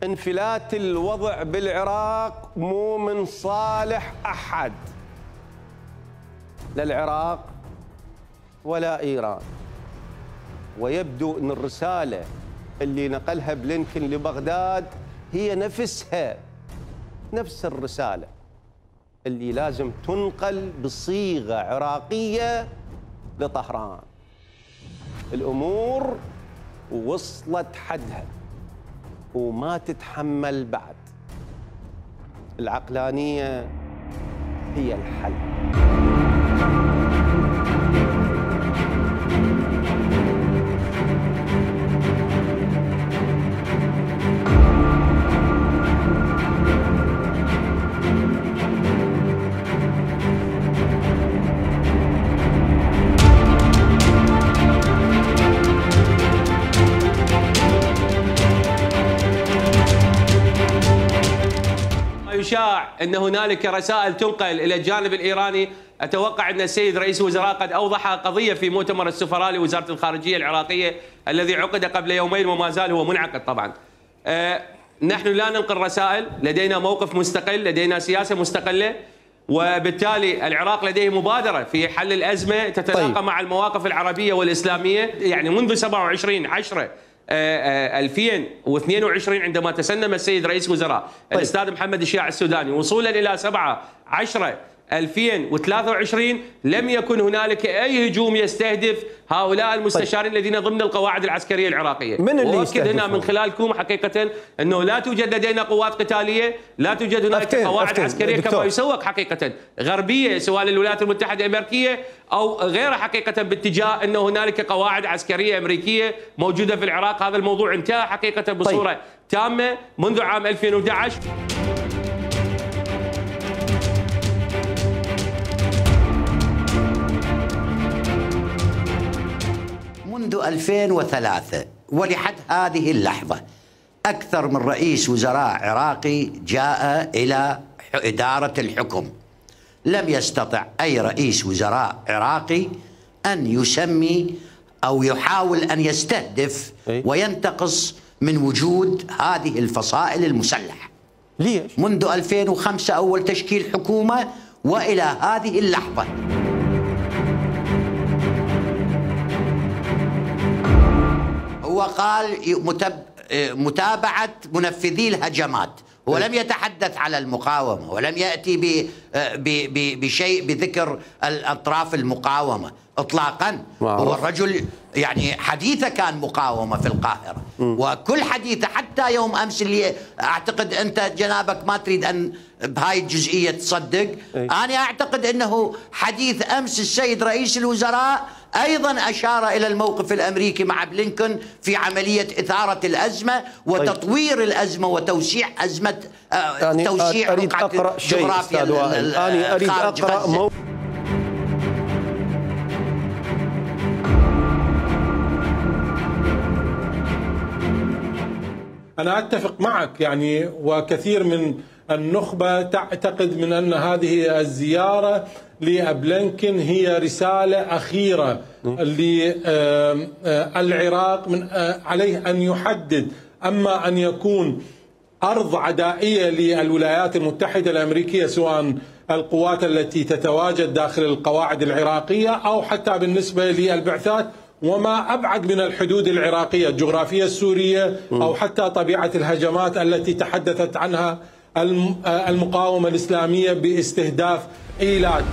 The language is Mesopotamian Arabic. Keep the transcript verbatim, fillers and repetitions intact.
انفلات الوضع بالعراق مو من صالح أحد، لا العراق ولا إيران. ويبدو أن الرسالة اللي نقلها بلينكن لبغداد هي نفسها نفس الرسالة اللي لازم تنقل بصيغة عراقية لطهران. الأمور وصلت حدها وما تتحمل بعد. العقلانية هي الحل. يشاع أن هنالك رسائل تنقل إلى الجانب الإيراني. أتوقع أن السيد رئيس الوزراء قد أوضح قضية في مؤتمر السفراء لوزارة الخارجية العراقية الذي عقد قبل يومين وما زال هو منعقد طبعا. أه نحن لا ننقل رسائل، لدينا موقف مستقل، لدينا سياسة مستقلة، وبالتالي العراق لديه مبادرة في حل الأزمة تتلاقى طيب. مع المواقف العربية والإسلامية. يعني منذ سبعة وعشرين عشرة ألفين واثنين وعشرين عندما تسنم السيد رئيس الوزراء طيب. الأستاذ محمد الشياع السوداني وصولا إلى سبعة عشرة ألفين وثلاثة وعشرين لم يكن هنالك أي هجوم يستهدف هؤلاء المستشارين طيب. الذين ضمن القواعد العسكرية العراقية. من اللي وأؤكد هنا من خلالكم حقيقة أنه لا توجد لدينا قوات قتالية، لا توجد هنالك أفتين قواعد أفتين عسكرية دكتور. كما يسوق حقيقة غربية سواء للولايات المتحدة الأمريكية أو غيرها حقيقة باتجاه أنه هنالك قواعد عسكرية أمريكية موجودة في العراق. هذا الموضوع انتهى حقيقة بصورة طيب. تامة منذ عام ألفين وأحد عشر. منذ ألفين وثلاثة ولحد هذه اللحظة أكثر من رئيس وزراء عراقي جاء إلى إدارة الحكم. لم يستطع أي رئيس وزراء عراقي أن يسمي أو يحاول أن يستهدف وينتقص من وجود هذه الفصائل المسلحة. ليش؟ منذ ألفين وخمسة أول تشكيل حكومة وإلى هذه اللحظة. هو قال متابعة منفذي الهجمات، هو لم يتحدث على المقاومة ولم يأتي بشيء بذكر الأطراف المقاومة إطلاقا. هو الرجل يعني حديثه كان مقاومة في القاهرة م. وكل حديثه حتى يوم أمس اللي أعتقد أنت جنابك ما تريد أن بهاي الجزئية تصدق. أي. أنا أعتقد أنه حديث أمس السيد رئيس الوزراء أيضا أشار إلى الموقف الأمريكي مع بلينكن في عملية إثارة الأزمة وتطوير الأزمة وتوسيع أزمة يعني توسيع أريد أقرأ شيء أستاذ وائل. أنا أريد أقرأ مو... أنا أتفق معك يعني، وكثير من النخبة تعتقد من أن هذه الزيارة لبلينكن هي رسالة أخيرة للعراق، من عليه أن يحدد أما أن يكون أرض عدائية للولايات المتحدة الأمريكية سواء القوات التي تتواجد داخل القواعد العراقية أو حتى بالنسبة للبعثات وما أبعد من الحدود العراقية الجغرافية السورية أو حتى طبيعة الهجمات التي تحدثت عنها المقاومة الإسلامية باستهداف إيلات.